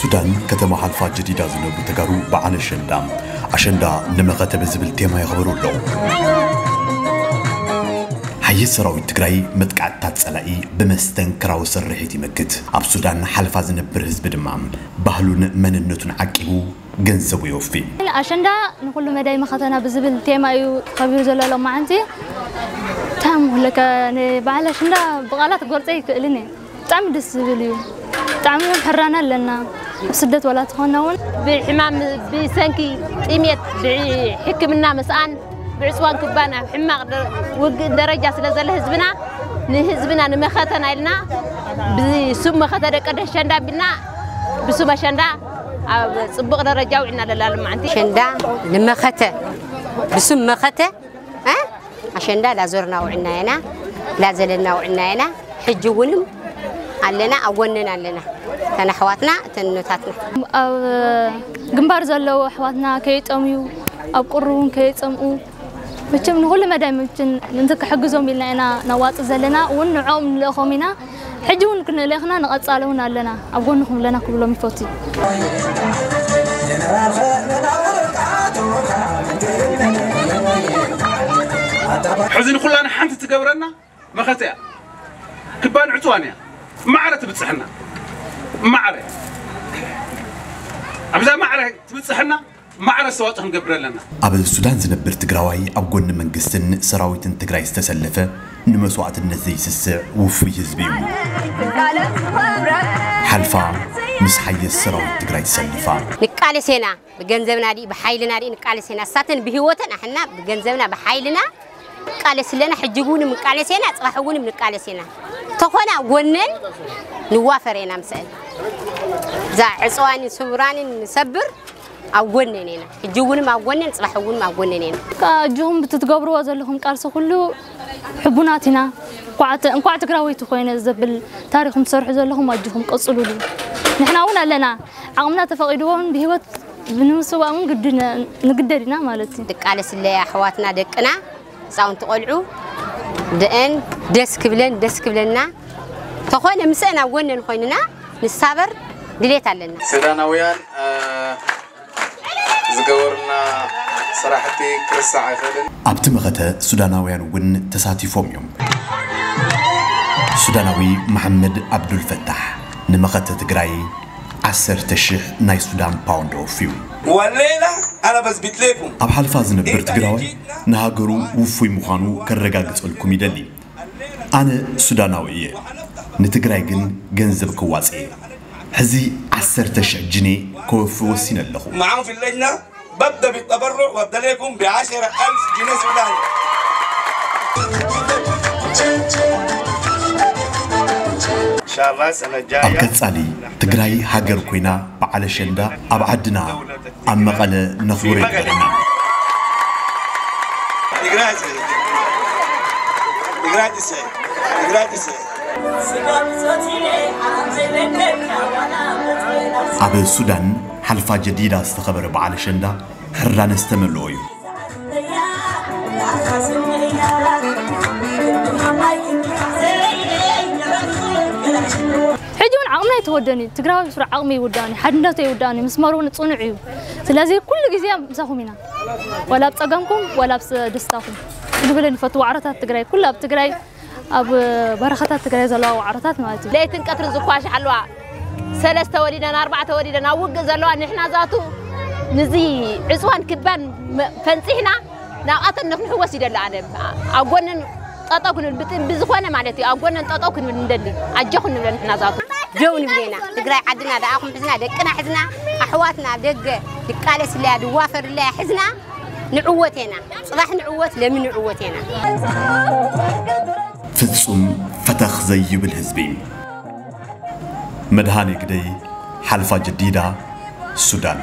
ሱዳን፣ ከተማ ሓልፋ ጀዲዳ ዝነብሩ ተጋሩ በዓል ኣሸንዳ፣ ኣሸንዳ ንመኸተ ብዝብል ቴማ የኽብሩ ኣለዉ። ሓይሊ ሰራዊት ትግራይ መጥቃዕትታት ጸላኢ ብመስተንክራዊ ስርሒት ይመክት። ኣብ ሱዳን ሓልፋ ዝነብር ህዝቢ ድማ ባህሉን መንነቱን ዓቂቡ ገንዘቡ የወፊ። ኣሸንዳ ንኹሉ መዳይ መኸተና ብዝብል ቴማ እዩ ተኸቢሩ ዘሎ ሎማዓንቲ። እንታይ ምለካ፣ ንበዓል ኣሸንዳ ብቓላት ክገልጾ ኣይክእልን እየ። ብጣዕሚ ደስ ዝብል እዩ። ብጣዕሚ እውን ሕራና ኣለና። ብስደት ዋላ ተኾና እውን ብሕማም፣ ብሰንኪ ጥሜት፣ ብሕክምና ምስኣን፣ ብዕፅዋን ክባን ኣብ ሕማቕ ደ-፣ ውግእ ደረጃ ስለ ዘሎ ህዝብና፣ ንህዝብና ንመኸተና ኢልና ብስም መኸተ ደቂ ኣሸንዳ ኣቢልና ብስም ኣሸንዳ ኣብ ፅቡቕ ደረጃ ውዒልና ለላ ልማዓንቲ። ኣሸንዳ ንመኸተ፣ ብስም መኸተ፣ እ? ኣሸንዳ ላዞርና ውዕና ኢና፣ ላዘለና ውዕና ኢና። ሕጂ እውንም ኣለና፣ ኣብ ጎነን ኣለና። እተን ኣሕዋትና፣ እተን እኖታትና። ኣብ ግንባር ዘለዉ ኣሕዋትና ከይጠምዩ፣ ኣብ ቁሪ እውን ከይጸምኡ፣ መቸም ንኹሉ መዳይ መቸም ምእንቲ ክሕግዞም ኢልና ኢና ነዋጽእ ዘለና፣ እውን ንዕኦም ንልእኾም ኢና። ሕጂ እውን ክንልእኽና ንቐጻሊ እውን ኣለና፣ ኣብ ጎንኹም ኣለና ክብሎም ይፈቱ። ሕዚ ንኹላና ሓንቲ ትገብረና መኸተ እያ። ክባን ዕፅዋን እያ። ማዕረ ትብፅሕና። ማዕረ። ኣብዛ ማዕረ ትብፅሕና፣ ማዕረ ኣስተዋፅኦ ክንገብር ኣለና። ኣብ ሱዳን ዝነብር ትግራዋይ ኣብ ጎኒ መንግስትን ሰራዊትን ትግራይ ዝተሰለፈ ንመስዋእትነት ዘይስስዕ ውፉይ ህዝቢ እዩ። ሓልፋ ምስ ሓየት ሰራዊት ትግራይ ተሰሊፋ። ንቃለስ ኢና፣ ብገንዘብና ድዩ፣ ብሓይልና ድዩ ንቃለስ ኢና። እሳተን ብህይወተን ኣሕና ብገንዘብና ብሓይልና ንቃለስ ኣለና። ሕጂ እውን ንቃለስ ኢና፣ ፅባሕ እውን ንቃለስ ኢና። ተኾና ጎነን ንዋፈር ኢና ምስአን። እዛ ዕፅዋንን ስውራንን ንሰብር ኣብ ጎነን ኢና። ሕጂ እውን ኣብ ጎነን፣ ፅባሕ እውን ኣብ ጎነን ኢና። ከኣ ኣጆኹም ብትትገብርዎ ዘለኹም ቃልሲ ኩሉ ሕቡናት ኢና። እንኳዕ ተ-፣ እንኳዕ ትግራወይቲ ኮይነ ዘብል ታሪኽኩም ትሰርሑ ዘለኹም ኣጆኹም ቀጽሉሉ። ንሕና እውን ኣለና። ዓቕምና ተፈቒድዎ እውን ብህይወት ንምስዋእ እውን ግድነ-፣ ንግደድ ኢና ማለት እዩ። ንቃለስለይ ኣሕዋትና ደቅና ህፃውንቲ ቆልዑ ደአን ደስ ክብለን ደስ ክብለና ተኾነ ምስአን ኣብ ጎነን ኮይንና ንሳበር ድሌት ኣለና። ሱዳናውያን፣ እ፣ ዝገበሩና ስራሕቲ ክርሳዕ ኣይኽእልን። ኣብቲ መኸተ ሱዳናውያን እውን ተሳቲፎም እዮም። ሱዳናዊ መሓመድ ኣብዱልፈታሕ ንመኸተ ትግራይ ዓሰርተ ሽሕ ናይ ሱዳን ፓውንድ ኣወፍዩ። والليلة أنا بثبت لكم ኣብ ሓልፋ ዝነብር ትግራዋይ ንሃገሩ ውፉይ ምዃኑ ከረጋግጸልኩም ይደሊ። ኣነ ሱዳናዊ እየ። ንትግራይ ግን ገንዘብ ክዋጽእ እየ። ሕዚ ዓሰርተ ሽሕ ጅኔ ከወፊ ወሲነ ኣለኹ። معاهم في اللجنة، ببدأ بالتبرع وابدأ لكم بعشرة ألف جنيه سوداني. إن شاء الله السنة ኣብ الجاية ቀጻሊ ትግራይ ሃገር ኮይና በዓል ኣሸንዳ ኣብ ዓድና ኣብ መቐለ ነኽብሮ ይግበረና። Grazie. Grazie. Grazie. ኣብ ሱዳን ሓልፋ ጀዲዳ ዝተኸበረ በዓል ኣሸንዳ ሕራነ ዝተመልኦ እዩ። ሕጂ እውን ዓቕምና ኣይተወደን እዩ። ትግራዊ ስሩዕ ዓቕሚ ይውዳእን እዩ፣ ሓድነቱ ይውዳእን እዩ፣ ምስመሩ እውን ጽኑዕ እዩ። ስለዚ ኩሉ ግዜ ምሳኹም ኢና። ዋላ ኣብ ጸገምኩም ዋላ ኣብ ስ-፣ ደስታኹም። ንብለን ይፈቱ ዋዕሮታት ትግራይ፣ ኩሉ ኣብ ትግራይ፣ ኣብ በረኻታት ትግራይ ዘለዋ ዋዕሮታት ማለት እዩ። ለይትን ቀትርን ዝኳሻሕ ኣለዋ። ሰለስተ ወሊደን፣ ኣርባዕተ ወሊደን ኣብ ውግእ ዘለዋ ንሕና ዛቱ ንዚ ዕፅዋን ክባን መ-፣ ፈንፂሕና ናብኣተን ንክንሕወስ ይደሊ። ኣነ ኣብ ጎነን ጠጠው ክንብል ብጥ-፣ ብዝኾነ ማለት እዩ። ኣብ ጎነን ጠጠው ክንብል ንደሊ። ኣጆኹን ንብለን ንሕና ዛቱ። ደው ንብል ኢና። ትግራይ ዓድና ደኣኹም ሕዝና፣ ደቅና ሕዝና፣ ኣሕዋትና ኣብ ደገ ይቃለስለያ፣ ድዋፈርለያ ሕዝና ንዕወት ኢና። ጽባሕ ንዕወት፣ ለሚ ንዕወት ኢና። ፍጹም ፈተኽ ዘይብል ህዝቢ። መድሃኔ ግደይ፣ ሓልፋ ጀዲዳ፣ ሱዳን።